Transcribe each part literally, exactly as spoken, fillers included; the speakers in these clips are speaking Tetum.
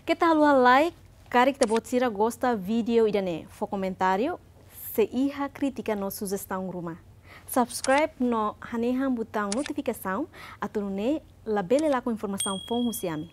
Keta haluha like, karik ita-boot sira gosta vídeo ida-ne'e, fó komentáriu, se iha krítika no sujestaun ruma. Subscribe no hanehan butaun notifikasaun, atu nune'e labele lakon informasaun foun husi ami.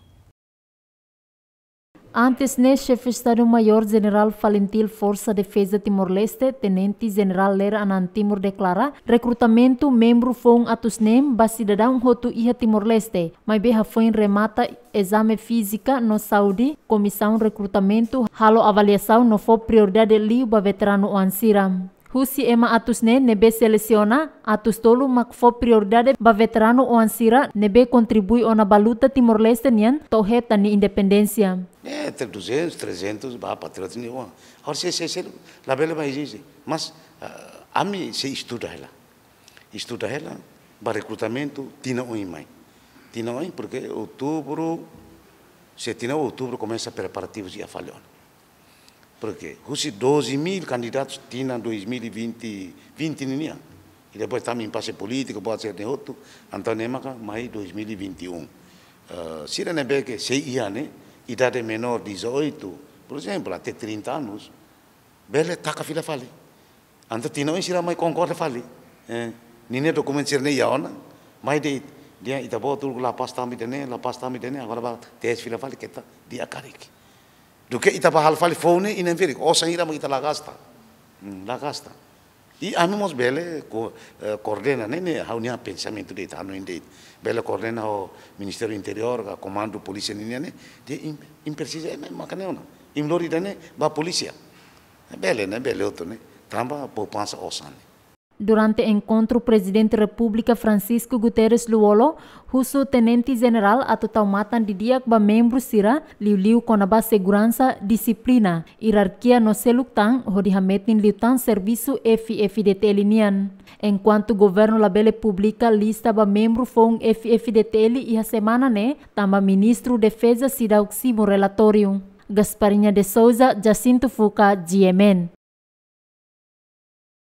Antes ne'e, Xefe Estadu-Maiór Jenerál FALINTIL Forsa Defeza Timor-Leste, Tenente Jenerál Lere Anan Timur deklara rekrutamentu membru foun atus neen ba sidadaun hotu iha Timor-Leste, maibé hafoin remata ezame fízika no saúde, Komisaun Rekrutamentu halo avaliasaun no fó prioridade liu ba veteranu oan sira. Husi ema atus neen ne'ebé selesiona, atus tolu mak fó prioridade ba veteranu oan sira ne'ebé kontribui ona ba luta Timor-Leste nian to'o hetan nia independénsia. É, entre duzentos, trezentos ba patriota nia oan. Agora, se, se, se, labele ba ezije. Mas, ah, ami sei estuda hela. Estuda hela, ba rekrutamentu, tinan oin mai. Tinan oin, porque outubro, se tinan outubro komesa preparativus iha fali ona. Porque husi doze mil candidatos tinan dois mil e vinte, vinte ninian. I depois tama impase polítiku, buat sira-ne'e hotu, entaun ne'e maka mai dois mil e vinte e um. Eh, sira ne'ebé ke sei iha ne'e, idade menór dezoito, por exemplo, até trinta anos, bele taka fila fali. Entaun tinan oin sira mai konkorre fali. Eh, ninia dokumentu sira-ne'e iha ona, mai de'it, dehan ita-boot uluk La Paz tama ida-ne'e, La Paz tama ida-ne'e, agora ba tes fila fali keta di'ak karik. Duké ita ba halo fali foun ne'e, inan ferik, osan hira mak ita la gasta. Hmm, la gasta. I ami mós bele ko-, eh, koordena ne'e, ne'e ha'u-nia pensamentu de'it, hanoin de'it. Bele koordena ho Ministériu Interiór, ka Komandu Polísia ninian ne'e, dehan imi, imi presiza ema, ema maka ne'e ona. Imi lori ida-ne'e ba polísia. Bele ne'e, bele hotu ne'e. Tanba poupansa osan ne'e. Durante enkontru, Prezidente Repúblika Francisco Guterres Lú-Olo husu Tenente Jenerál atu tau matan didi'ak ba membru sira, liuliu kona-ba seguransa, dixiplina, ierarkia no seluk tan, hodi hametin liután servisu F-FDTL nian. Enkuantu governu labele publika lista ba membru foun F-FDTL iha semana ne'e, tanba Ministru Defeza seidauk simu relatóriu. Gasparinha de Souza, Jacinto Fuca, G M N.